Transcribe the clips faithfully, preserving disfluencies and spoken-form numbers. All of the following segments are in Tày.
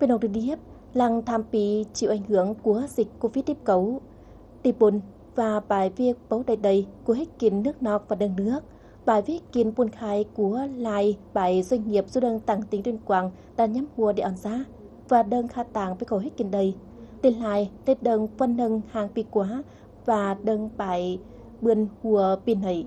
Pên ong đi điếp, lăng tham pi chịu ảnh hưởng của dịch Covid mười chín, ti bôn và bài viết bấu đay đay của hít kin nước nọc và đơng nước. Bài viết kin buôn khai của lai bài doanh nghiệp du đơng tặng tỉnh Tuyên Quang đã nhắm hua đi on giá và đơng kha tàng pê khổ hít kin đay. Tin lai, tết đơng phân nâng hàng pi quá và đơng bài bươn hua pi nảy.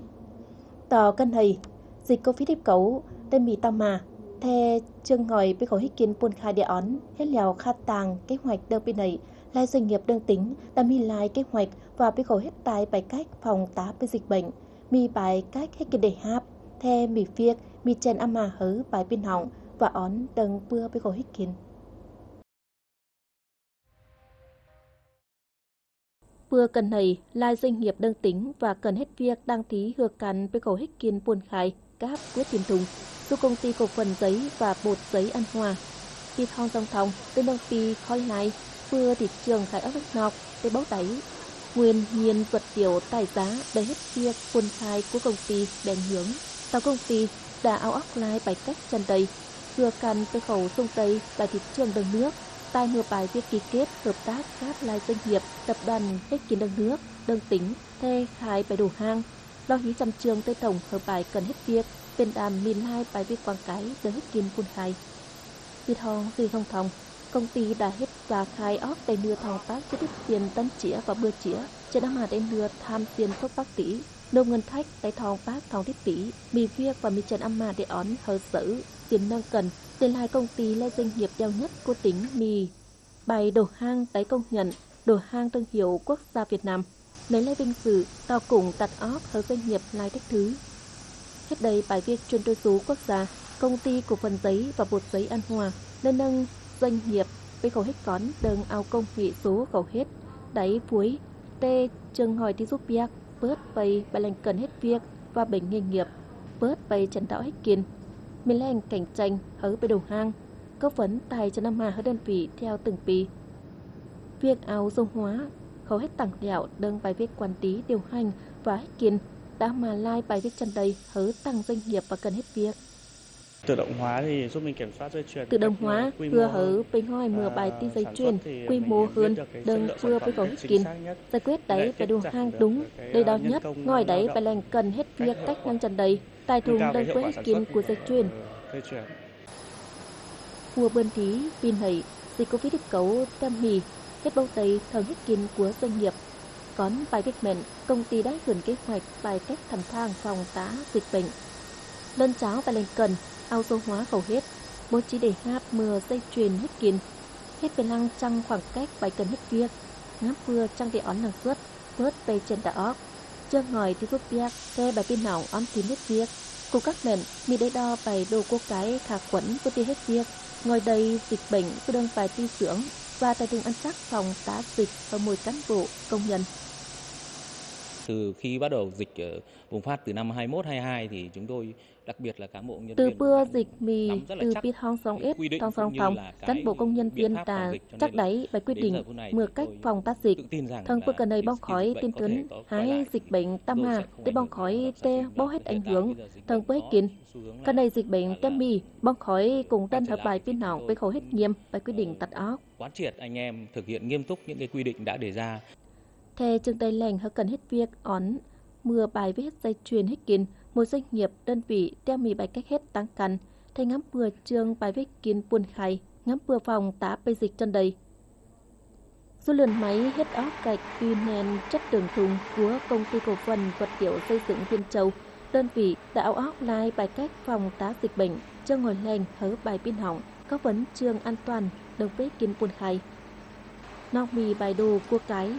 Tỏ cân hầy, dịch Covid mười chín, tê mì tao mà, the chương hỏi pê khổ hít kin buôn khai địa ón, hết lèo kha tàng kế hoạch đơng pi nảy, lai doanh nghiệp đơng tỉnh, đã mì lai kế hoạch và pê khổ hít tai bài cách phòng tá pê dịch bệnh, mì bài cách hít kin đảy háp, the mì phiêk, mì chèn ama hớ bài pin họng, và ón đơng pưa pê khổ hít kin. Pưa cần hầy, lai doanh nghiệp đơng tỉnh và cần hết việc đăng ký hưa căn pê khổ hít kin buôn khai, cáp quyết tin thùng, su công ty cổ phần giấy và bột giấy An Hòa. Ti thong dòng thong, tên đồng pi khói lai, pưa thị trường khai ốc nước nọc, tê bấu đáy. Nguyên nhiên vật liệu tài giá đòi hết việc buôn khai của công ty bị ảnh hưởng. Tàu công ty đã ao óc lai bài cách chân đây, hưa căn pê khổ sung tây bài thị trường đơng nước, tai mưa bài việc ký kết hợp tác các lai doanh nghiệp, tập đoàn hít kin đơng nước, đơng tỉnh, thê khai bài đủ hàng. Lo hí chăm chương tê tổng hợp bài cần hết việc, bên đàm mìn lai bài việc quảng cáo đơng hít kin buôn khai. Việt Hồng, Duy Hồng Thông, công ty đã hết giá khai ốc đảy nưa thong pác chi tiết tiền tấn chĩa và bưa chĩa, trên năm mà đảy nưa tham tiền thuốc bác tỷ, nộp ngân sách đảy thong pác thong tiếp tỷ, mì việc và mì chân âm mà đảy ón hờ sở, tiền nâng cần, tiền lai công ty lê doanh nghiệp đeo nhất của tỉnh mì. Bài đổ hang đảy công nhận, đổ hang thương hiệu quốc gia Việt Nam. Nảy lê vinh dự, tàu cũng tặt óp hờ doanh nghiệp lai thách thứ. Hết đây bài việc chuyển đổi số quốc gia, công ty cổ phần giấy và bột giấy An Hòa, nơi nâng doanh nghiệp, pê khổ hết cón, đơng ao công nghệ số khổ hết, đảy phuối, tê trường hỏi đi giúp việc, bớt bày bài lệnh cần hết việc và bệnh nghề nghiệp, bớt bày trần đạo hết kiên. Mì leng cạnh tranh, hớ bê đồ hang, góp phấn tài cho năm hà hớ đơn vị theo từng pi. Việc ao số hóa, khổ hết tặng đẹo, đơng bài việc quản lý điều hành và hết kiên, đã mà lai bài việc chân đây hớ tăng doanh nghiệp và cần hết việc. Tự động hóa thì giúp mình kiểm soát dây chuyền một Tự động cách, hóa ờ, quy hưa mô hơn. Hớ pê ngòi mưa bài ti dây chuyền quy mô hơn, đơng pưa pê cầu hết kín. Giải quyết đáy phải đủ hàng đúng, đầy đủ nhất, ngòi đáy phải lành cần hết việc cách năng chân đầy, tài thùng đơng pưa hết kín của dây chuyền. Hua bươn thí, pin hẩy, dịch Covid mười chín, tiêm hỉ, hết bông tay thơng hết kín của doanh nghiệp. Cón bài việc mẹn, công ty đã hưởng kế hoạch bài cách thăm thang phòng tá dịch bệnh. Lân cháo và lành cần, ao số hóa khẩu hết, bố trí để hạp mưa dây chuyền hết kín. Hết về lăng trăng khoảng cách bài cần hết việc, ngắm vừa trăng để ón năng suất, bớt về trên đà óc. Chơ ngòi đi giúp việc, xe bài tin nọng ón tin hết việc. Cục các mẹn, mi đế đo bài đồ cô cái khả khuẩn của ti hết việc. Ngòi đầy dịch bệnh, cứ đương bài ti dưỡng, và tại vùng ăn chắc phòng tá dịch ở mỗi cán bộ, công nhân. Từ khi bắt đầu dịch, ờ, bùng phát từ năm hai mốt hai hai thì chúng tôi, đặc biệt là cán bộ công nhân Từ viên bưa cũng dịch mì, nắm rất là từ chắc pit hong song cái ít, quy định thong song cũng như phòng, là cán cái bộ công nhân biện viên pháp phòng ta dịch, cho chắc nên là đáy bài quy đến định giờ phút này mưa thì cách tôi phòng tá dịch. Tự tin rằng Thơng là bưa cần này cái bong dịch khói bệnh tin có thể tuấn, có quay hái lại, dịch nhưng bệnh mà tam tôi hà, sẽ không tê ảnh bong hưởng khói đến tê tận bao nhiêu, hiện tại bây giờ dịch bệnh bố hết có kín. Xu hướng là Cần này dịch bệnh tam mì, bong khói cũng tân hợp bài pin nọng, với khẩu hết nghiêm, bài quy định tặt óc. Quán triệt anh em thực hiện nghiêm túc những cái quy định đã đề ra. Thê chương tay leng hơ cần hết việc ón, mưa bài với hết dây chuyền hết kín, một doanh nghiệp, đơn vị, teo mì bài cách hết tăng căn, thê ngắm pưa chương bài với kín buôn khai, ngắm pưa phòng tá pê dịch chân đầy. Số lượn máy hết óc gạch pin nền chất đường thùng của công ty cổ phần vật liệu xây dựng Viên Châu, đơn vị đã ao óc lai bài cách phòng tá dịch bệnh, chương ngồi leng hớ bài pin hỏng, có vấn chương an toàn, đồng bế kín buôn khai. Nọc mì bài đồ cua cái,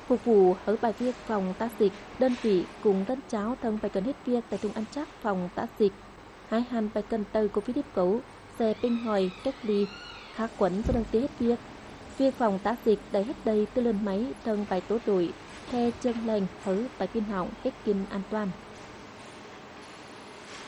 phục vụ hớ bài việc phòng tá dịch, đơn vị cũng lân cháo thơng bài cần hết việc tại trung ăn chắc phòng tá dịch. Hái hăn bài cần tơ Covid mười chín, xe pinh hỏi, cách ly, khá khuẩn cho đơn ti hết việc. Việc phòng tá dịch đẩy hết đầy tư lươn máy thơng bài tố đội, khe chương lành hớ bài pin hỏng, cách kín an toàn.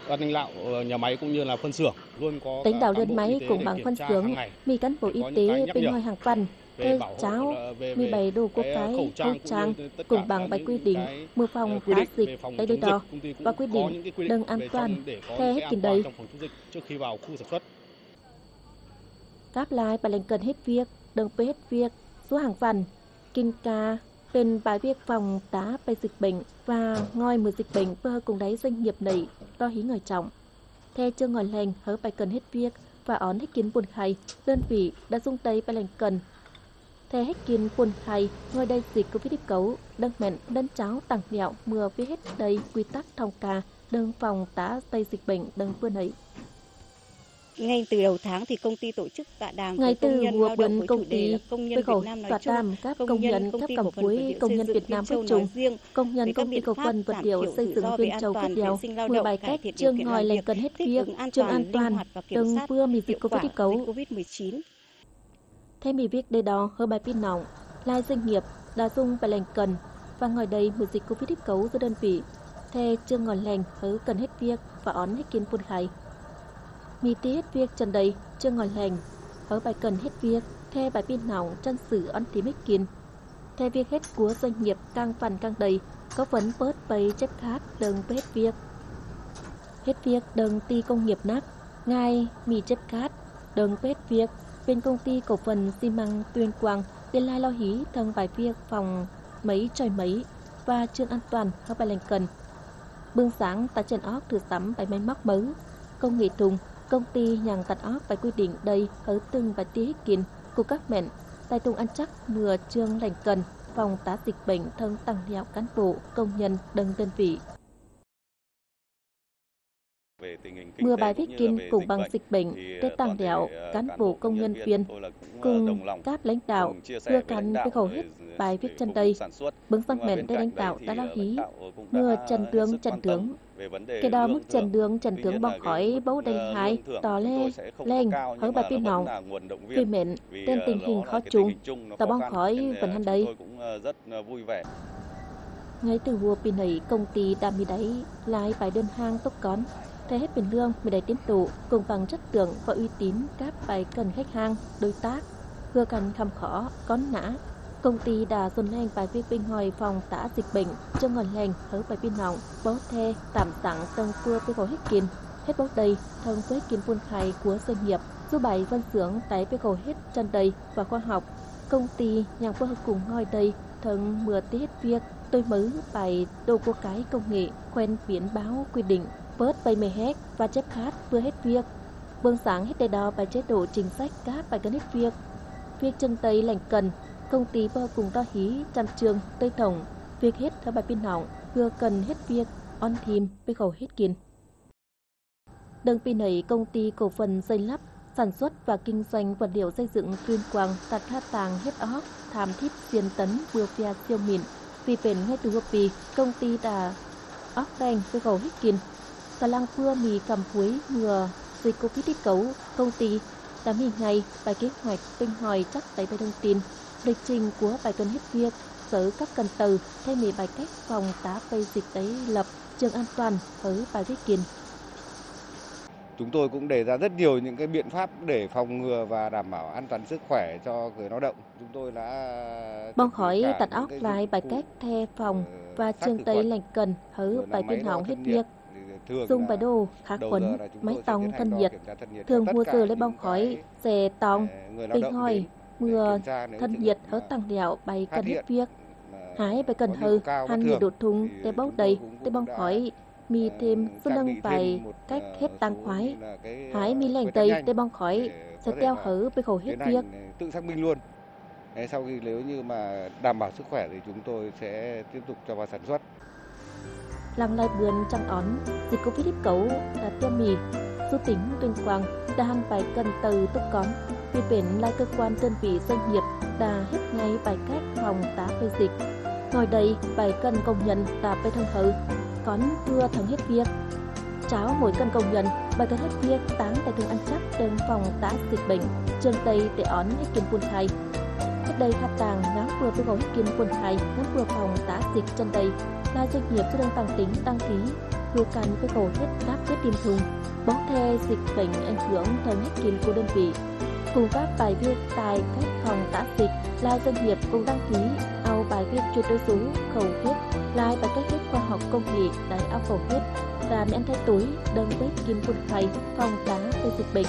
Ban lãnh đạo, ờ, nhà máy cũng như là phân xưởng luôn có Lãnh đạo cán lươn bộ máy y tế cũng để bằng kiểm phân tra xưởng, hàng ngày. Mì cán bộ y tế pinh hỏi hàng tuần. Theo cháo, mì bày đồ cua cái, khẩu trang cũng bằng bài quy định, mưa phòng tá dịch, đáy đôi đỏ, và quy định đừng an toàn, theo hết kín đầy. Trước khi vào khu sản xuất. Đáp lai pă leng cần hết việc, đơ̆ng pơ hết việc, số hàng vạn, kinh ca, pên bài việc phòng tá pây dịch bệnh và ngòi mưa dịch bệnh pơ hơcung đáy doanh nghiệp nảy, lo hí ngòi trọng. Thê chơ ngòi leng hớ pă cần hết việc và ón hết kin buôn khai, đơn vị đã dùng tay pă leng cần. Thê hết kin buôn khai, ngòi đay dịch Covid mười chín, đơ̆ng mẹn, đơn cháo tặng nẹo mưa viết hết đay quy tắc thông ca, đơ̆ng phòng tá pây dịch bệnh đơ̆ng bươn ấy. Ngay từ đầu tháng thì công ty tổ chức tọa đàm với công nhân lao động với chủ đề là công nhân Việt Nam nói chung, công nhân công ty cổ phần vật liệu xây dựng Việt Nam nói riêng, về các biện pháp giảm thiểu rủi ro về an toàn vệ sinh lao động tại thời điểm cải thiện điều kiện làm việc, thích ứng an toàn, linh hoạt và kiểm soát hiệu quả dịch Covid mười chín. Thê mì việc đe đo hớ bai pì nọng, lai doanh nghiệp đã dùng pă leng cần và ngòi đay mưa dịch Covid mười chín dư đơn vị, thê chơ ngòi leng hớ cần hết việc và ón hết kin buôn khai. Mì ti hết việc chân đay, chơ ngòi leng hớ bai cần hết việc, thê bai pì nọng chăn sự ón thim hết kin. Thê việc hết của doanh nghiệp cang vặn cang đay, có phần bớt pây chếp khát đơ̆ng pơ hết việc. Hết việc đơ̆ng ti công nghiệp nắc, ngai mì chếp khát, đơ̆ng pơ hết việc, bên công ty cổ phần xi măng Tuyên Quang, tiền lai lo hí thơ̆ng bai việc phòng máy chọi máy và trường an toàn hớ bai leng cần. Bưng sáng ta chèn óc thử sắm bai máy móc mớu, công nghệ thùng, công ty nhằng tặt óc bai quy định đay hớ từng bai ti hít kin, cục cắp mẹn, tai tung ăn chắc mưa trường leng cần, phòng tá dịch bệnh thơ̆ng tặng nẹo cán bộ, công nhân đơ̆ng đơn vị. Mưa bai viết kin cũng bằng dịch bệnh, tết tặng nẹo cán bộ công nhân viên, cùng cáp lãnh đạo, hưa căn pê khổ hết bai viết chân đây. Bướng săng mẹn đây lãnh đạo đã lao hí, mưa chân tướng chân tướng. Kể đó mức chân đường chân tướng bong khói bấu đen hai, tỏ lê, leng, hớ bai pì nọng. Vì mẹn, tên tình hình khó chung, tỏ bong khói vẫn hăn đây. Ngay từ hùa pì nảy công ty Đa Mì Đáy lai bai đơn hàng tốc cón, thê hết pên lương mì đáy tiến tụ, cùng bằng chất lượng và uy tín cáp bai cần khách hàng, đối tác, hưa căn khăm khó, cón nã. Công ty đã dồn leng bai viết bên ngoài phòng tá dịch bệnh, chơ ngòn leng hớ bai pì nọng, bấu the, tạm sẵn tơng pưa pê khổ hết kin, hết bấu đầy, thơng pưa hết kin buôn khai của doanh nghiệp, dù bai phân xưởng tại pê khổ hết chân đầy và khoa học. Công ty nhằm pưa hơcung ngòi đầy, thơng mưa ti hết việc, tôi mứ bai đồ của cái công nghệ, quen biển báo quy định, bớt bai mê hét và chép khát pưa hết việc. Bương sáng hết đe đo bai chế độ chính sách cáp bai cần hết việc. Việc chân tây lẻng cần, công ty pưa hơcung đo hí, chăm trường, tơi thổng, việc hết thơ bai pin hỏng, hưa cần hết việc, on thim, pê khổ hết kin. Đơng pì nảy công ty cổ phần xây lắp, sản xuất và kinh doanh vật liệu xây dựng Tuyên Quang tặt tha tàng hết ók, tham thíp xiên tấn bưa pia siêu mịn. Vì pên ngay từ hùa pì, công ty đã ók đeng pê khổ hít kin. Tà lăng pưa mì cằm cuối mưa dịch Covid mười chín, công ty đã mì ngay bài kế hoạch bên ngoài chắc tại bài thông tin, lịch trình của bài cần hết việc, sở cấp cần từ, thay mì bài cách phòng tá pây dịch tái lập. Trường an toàn hới bai viết kin. Chúng tôi cũng đề ra rất nhiều những cái biện pháp để phòng ngừa và đảm bảo an toàn sức khỏe cho người lao động. Chúng tôi đã bong khói tặt ók lai bai cách the phòng và trường tây lẻng cần hới bai pin hỏng hết việc. Dùng bai đồ, khá khuẩn, máy tòng thân nhiệt. Thường hùa giờ lấy bong khói, xe tòng, pin hỏi, mưa thân nhiệt hới tăng đẹo bai cần hết việc. Hái bai cần hơ, hăn nhiệt độ thung, tê bóng đầy, tê bóng khói, mì thêm số nâng bai cách hết tăng khoái. Hái mì lẻng đầy, tê bóng khói, sẽ teo hớ bai khổ hết việc. Tự xác minh luôn. Sau khi nếu như mà đảm bảo sức khỏe thì chúng tôi sẽ tiếp tục cho vào sản xuất. Lăng lai bươn chăng ón, dịch Covid mười chín đã tiêm mì, du tỉnh Tuyên Quang đã hăn bai cần từ túc cón. Vì pên lai cơ quan đơn vị doanh nghiệp đã hết ngay bai cách phòng tá pê dịch. Ngòi đây bai cần công nhân đã pê thông hới, cón pưa thắng hết việc. Cháo mỗi cần công nhân bai cần hết việc táng tại thường ăn chắc đơng phòng tá dịch bệnh, trường tây để ón hết kiên buôn khai. Hết đây khát tàng ngắm pưa pê khổ hết kiên buôn khai, ngắm pưa phòng tá dịch chân đây. Lai doanh nghiệp chưa đăng tăng tính đăng ký, hùa căn pê khổ hết cáp chết tiêm chủng. Bóng the dịch bệnh ảnh hưởng thơng hết kiên của đơn vị. Cùng các bài viết tại các phòng tá dịch, lai doanh nghiệp cũng đăng ký, au bài viết chuyển đổi số khẩu huyết, lai bài cách hết khoa học công nghệ đáy ao khẩu huyết, và miễn thay túi, đơng bếp kim buôn khai, phòng tá về dịch bệnh.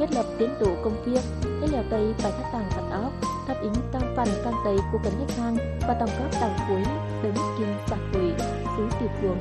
Thiết lập tiến độ công việc, thế lẹo đảy bài phát tặng khẩn óc, đáp ứng cam phần cam tây của cần khách hàng và đóng góp đảng quỹ, đới mít kinh xã hội, xứ Việt Cuồng.